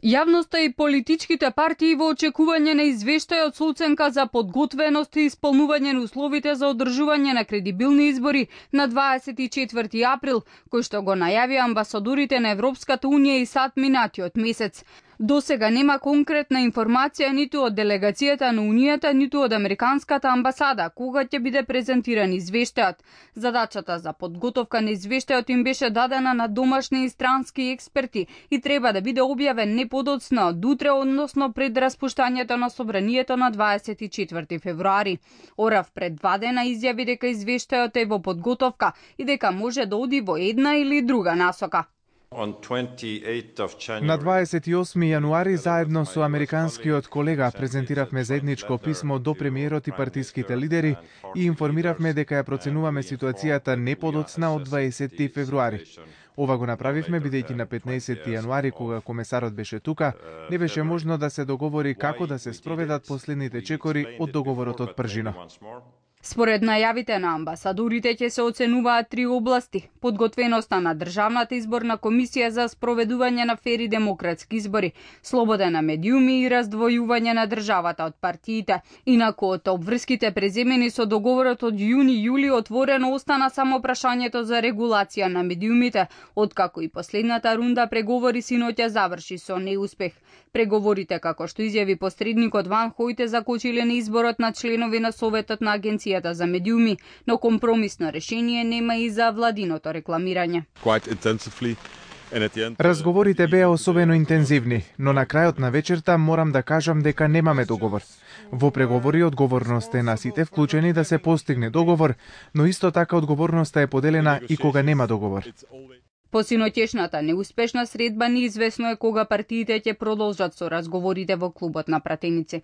Јавноста и политичките партии во очекување на извештај од оценка за подготвеност и исполнување на условите за одржување на кредибилни избори на 24 април, кој што го најавија амбасадорите на Европската унија и САД минатиот месец. До сега нема конкретна информација ниту од делегацијата на Унијата, ниту од Американската амбасада, кога ќе биде презентиран извештајот. Задачата за подготовка на извештајот им беше дадена на домашни и странски експерти и треба да биде објавен не подоцна од утре, односно пред распуштањето на собранието на 24 февруари. Орав пред 2 дена изјави дека извештајот е во подготовка и дека може да оди во една или друга насока. На 28 јануари заедно со американскиот колега презентиравме заедничко писмо до премиерот и партиските лидери и информиравме дека ја проценуваме ситуацијата не подоцна од 20 февруари. Ова го направивме бидејќи на 15 јануари, кога комесарот беше тука, не беше можно да се договори како да се спроведат последните чекори од договорот од Пржино. Според најавите на амбасадорите ќе се оценуваат 3 области: подготвеноста на Државната изборна комисија за спроведување на фери демократски избори, слобода на медиуми и раздвојување на државата од партиите. Инаку од обврските преземени со договорот од јуни-јули отворено остана само прашањето за регулација на медиумите, откако и последната рунда преговори синоќа заврши со неуспех. Преговорите, како што изјави посредникот Ван Хојте, закочиле на изборот на членови на Советот на Агенцијата за медиуми, но компромисно решение нема и за владиното рекламирање. Разговорите беа особено интензивни, но на крајот на вечерта морам да кажам дека немаме договор. Во преговори одговорноста е на сите вклучени да се постигне договор, но исто така одговорноста е поделена и кога нема договор. По синоќешната неуспешна средба неизвестно е кога партиите ќе продолжат со разговорите во клубот на пратеници.